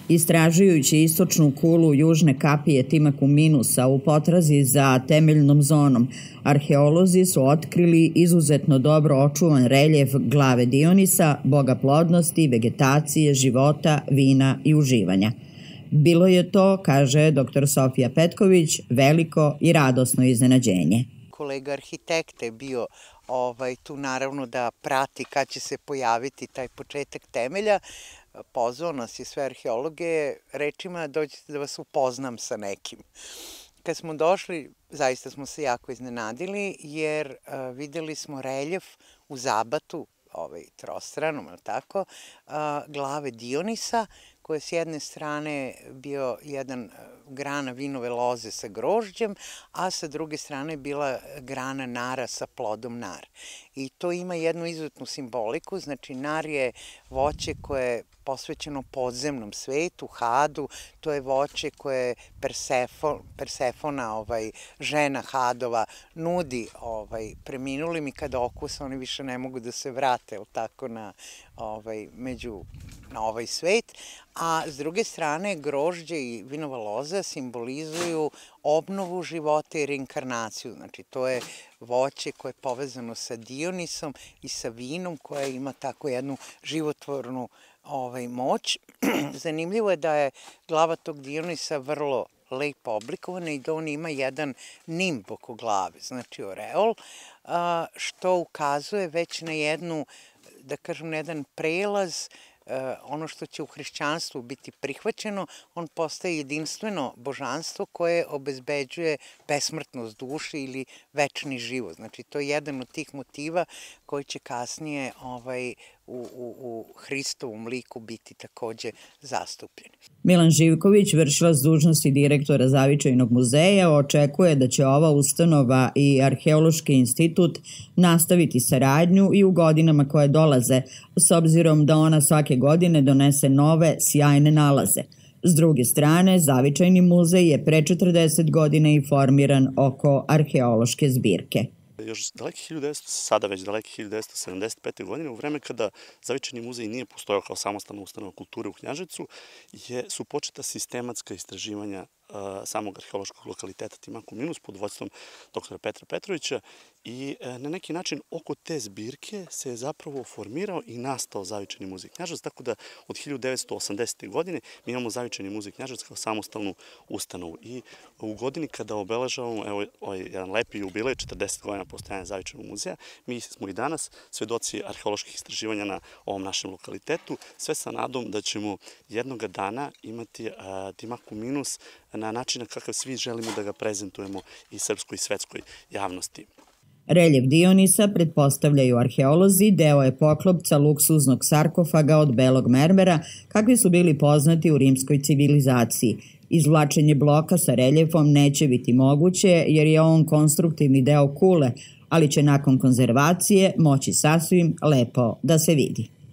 Istražujući istočnu kulu južne kapije Timaku Minusa u potrazi za temeljnom zonom, arheolozi su otkrili izuzetno dobro očuvan reljef glave Dionisa, boga plodnosti, vegetacije, života, vina i uživanja. Bilo je to, kaže dr. Sofija Petković, veliko i radosno iznenađenje. Kolega arhitekta je bio tu naravno da prati kad će se pojaviti taj početak temelja. Pozvao nas je sve arheologe rečima dođite da vas upoznam sa nekim. Kad smo došli, zaista smo se jako iznenadili jer videli smo reljef u zabatu, trostranom, tako, glave Dionisa, koja je s jedne strane bio jedan grana vinove loze sa grožđem, a sa druge strane bila grana nara sa plodom nar. I to ima jednu izuzetnu simboliku, znači nar je voće koje je posvećeno podzemnom svetu, Hadu, to je voće koje Persefona, žena Hadova, nudi preminulim i kada okusa oni više ne mogu da se vrate tako na ovaj svet, a s druge strane grožđe i vinova loza simbolizuju obnovu života i reinkarnaciju, znači to je voće koje je povezano sa Dionisom i sa vinom koje ima tako jednu životvornu moć. Zanimljivo je da je glava tog Dionisa vrlo lepo oblikovana i da on ima jedan nimb oko glave, znači oreol, što ukazuje već na jednu, da kažem, na jedan prelaz, ono što će u hrišćanstvu biti prihvaćeno, on postaje jedinstveno božanstvo koje obezbeđuje besmrtnost duše ili večni život. Znači, to je jedan od tih motiva koji će kasnije u Hristovom liku biti takođe zastupljeni. Milan Živković, vršilac dužnosti direktora Zavičajnog muzeja, očekuje da će ova ustanova i Arheološki institut nastaviti saradnju i u godinama koje dolaze, s obzirom da ona svake godine donese nove, sjajne nalaze. S druge strane, Zavičajni muzej je pre 40 godina i formiran oko arheološke zbirke. Još sada već daleke 1975. godine, u vreme kada Zavičajni muzej nije postojao kao samostalna ustanova kulture u Knjaževcu, su početa sistematska istraživanja samog arheološkog lokaliteta Timaku Minus pod vodstvom dr. Petra Petrovića i na neki način oko te zbirke se je zapravo formirao i nastao Zavičajni muzej Knjaževac, tako da od 1980. godine mi imamo Zavičajni muzej Knjaževac kao samostalnu ustanovu i u godini kada obeležavamo jedan lepi jubilej, 40 godina postojanja Zavičajnog muzeja, mi smo i danas svedoci arheoloških istraživanja na ovom našem lokalitetu, sve sa nadom da ćemo jednoga dana imati Timaku Minus na način kakav svi želimo da ga prezentujemo i srpskoj i svetskoj javnosti. Reljef Dionisa, pretpostavljaju arheolozi, deo je poklopca luksuznog sarkofaga od belog mermera, kakvi su bili poznati u rimskoj civilizaciji. Izvlačenje bloka sa reljefom neće biti moguće jer je on konstruktivni deo kule, ali će nakon konzervacije moći sasvim lepo da se vidi.